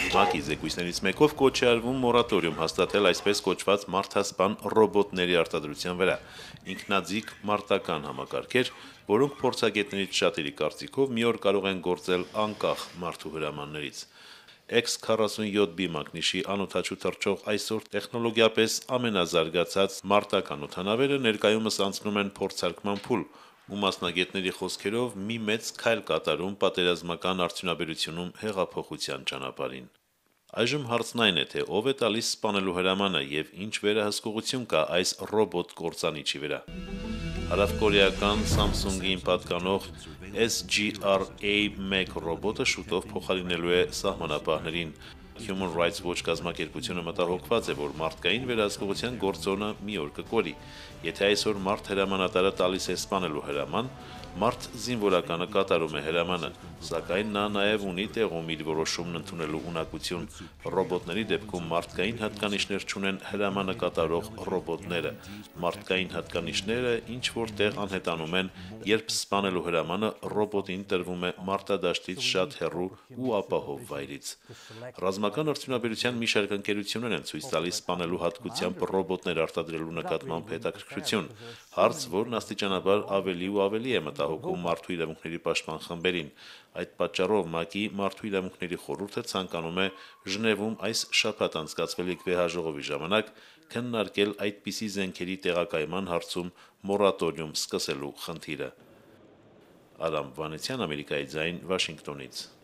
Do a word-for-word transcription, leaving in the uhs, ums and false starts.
ՄԱԿ-ի զեկույցներից մեկով կոչ է արվում մորատորիում հաստատել այսպես կոչված մարդասպան ռոբոտների արտադրության վրա, ինքնաձիգ մարտական համակարգեր, որոնք փորձագետներից շատերի կարծիքով մի օր կարող են գործել անկախ մարդու հրամաններից։ Էքս քառասունյոթ բի մակնիշի անօդաչու թռչող այսօր տեխնոլոգիապես ամենազարգացած մարտական օդանավերը ներկայումս անցնում են փորձարկման փուլ, ու մասնագետների խոսքերով մի մեծ քայլ կատարում պատերազմական արդյունաբերությունում հեղափոխության ճանապարհին։ Այժմ հարցն այն է, թե ով է տալիս սպանելու հրամանը եւ ինչ վերահսկողություն կա այս ռոբոտ կործանիչի վրա։ Հարավկորեական Samsung-ին պատկանող S G R A մեկ ռոբոտը շուտով փոխարինելու է սահմանապահներին։ Human Rights Watch կազմակերպությունը մտահոգված է, որ մարդկային վերահսկողության գործոնը մի օր կկորի։ Եթե այսօր մարդ հրամանատարը տալիս է սպանելու հրաման, մարդ զինվորականը կատարում է հրամանը, սակայն նա նաև ունի տեղում իր որոշումն ընդունելու ունակություն։ Ռոբոտների դեպքում մարդկային հատկանիշներ չունեն հրամանը կատարող ռոբոտները։ Մարդկային հատկանիշները ինչ որտեղ անհետանում են, երբ սպանելու հրամանը ռոբոտին տրվում է մարտադաշտից շատ հեռու ու ապահով վայրից։ Ռազմական արդյունաբերության մի շարք ընկերություններ են ցույց տալիս սպանելու հատկությամբ ռոբոտներ արտադրելու նկատմամբ հետաքրքրություն, հարց, որն աստիճանաբար ավելի ու ավելի է մտահոգում մարդու իրավունքների պաշտպան խմբերին։ Այդ պատճառով ՄԱԿ-ի մարդու իրավունքների խորհուրդը ցանկանում է Ժնևում այս շաբաթ անցկացվելիք վեհաժողովի ժամանակ քննարկել այդպիսի զենքերի տեղակայման հարցում մորատորիում սկսելու խնդիրը։ Արամ Վանեցյան, Ամերիկայի ձայն, Վաշինգտոնից։